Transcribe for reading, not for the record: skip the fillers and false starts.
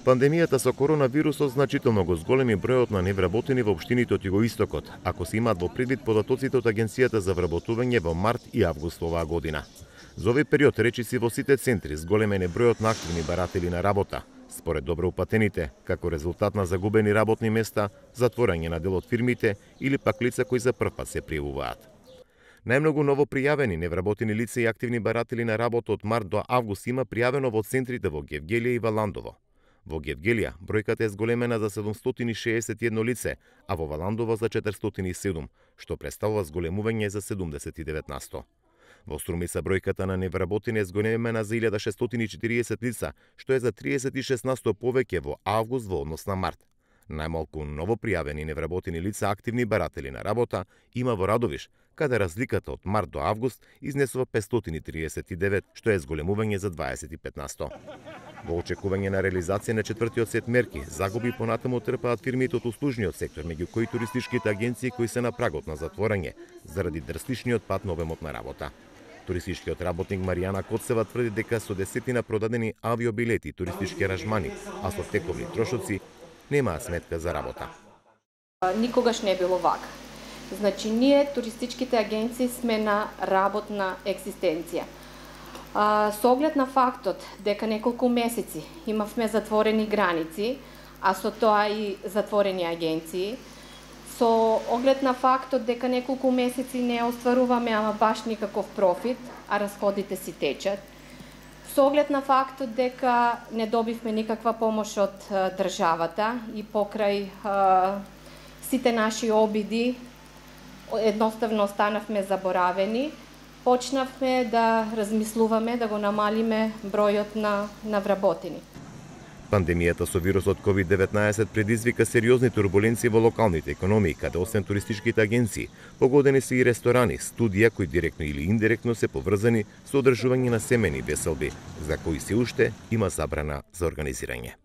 Пандемијата со коронавирусот значително го зголеми бројот на невработени во општините од југоистокот, ако се имаат во предвид податоците од Агенцијата за вработување во март и август оваа година. За овој период речиси во сите центри зголемен е бројот на активни баратели на работа, според добро упатените, како резултат на загубени работни места, затворање на дел од фирмите или пак лица кои за прв пат се пријавуваат. Најмногу ново пријавени невработени лица и активни баратели на работа од март до август има пријавено во центрите во Гевгелија и Валандово. Во Гевгелија бројката е зголемена за 761 лице, а во Валандово за 407, што представува зголемување за 79%. Во Струмица бројката на невработени е зголемена за 1640 лица, што е за 36% повеќе во август во однос на март. Најмалку ново пријавени невработени лица активни баратели на работа има во Радовиш, каде разликата од март до август изнесува 539, што е зголемување за 25%. Во очекување на реализација на четвртиот сет мерки, загуби понатаму трпаат фирмите од услужниот сектор, меѓу кои туристичките агенции кои се на прагот на затворање заради дрстичниот пат на обемот на работа. Туристичкиот работник Маријана Коцева тврди дека со десетина продадени авиобилети и туристички аранжмани, а со тековни трошоци, немаат сметка за работа. Никогаш не било вака. Значи, ние, туристичките агенции, сме на работна екзистенција. Со оглед на фактот дека неколку месеци имавме затворени граници, а со тоа и затворени агенции, со оглед на фактот дека неколку месеци не остваруваме ама баш никаков профит, а расходите си течат, со оглед на фактот дека не добивме никаква помош од државата и покрај сите наши обиди едноставно останавме заборавени, почнавме да размислуваме да го намалиме бројот на вработени. Пандемијата со вирусот COVID-19 предизвика сериозни турбуленции во локалните економии, каде освен туристичките агенции, погодени се и ресторани, студија кои директно или индиректно се поврзани со одржување на семени веселби, за кои се уште има забрана за организирање.